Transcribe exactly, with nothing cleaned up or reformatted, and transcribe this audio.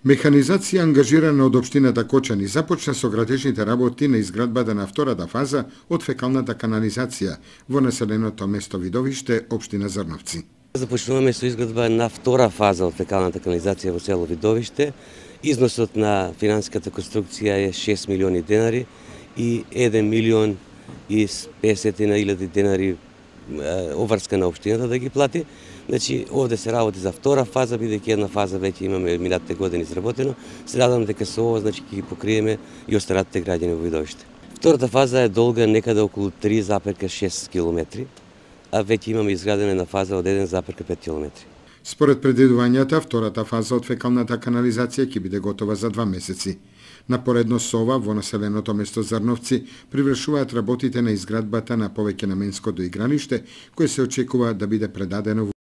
Механизација ангажирана од општината Кочани започна со градежните работи на изградбата на втората фаза од фекалната канализација во населеното место Видовиште, општина Зрновци. Започнуваме со изградба на втора фаза од фекалната канализација во село Видовиште. Износот на финансиската конструкција е шест милиони денари и еден милион и песет илјади денари оврска на општината да ги плати. Значи, овде се работи за втора фаза, бидејќи една фаза веќе имаме минатите години изработено. Се надам дека со ова, значи, ќе ги покриеме и останатите граѓани во Видовиште. Втората фаза е долга некаде околу три запирка шест километри, а веќе имаме изградена една фаза од еден запирка пет километри. Според предвидувањата, втората фаза од фекалната канализација ќе биде готова за два месеци. Напоредно со ова, во населеното место Зрновци привршуваат работите на изградбата на повеќе наменско доигралиште, кое се очекува да биде предадено во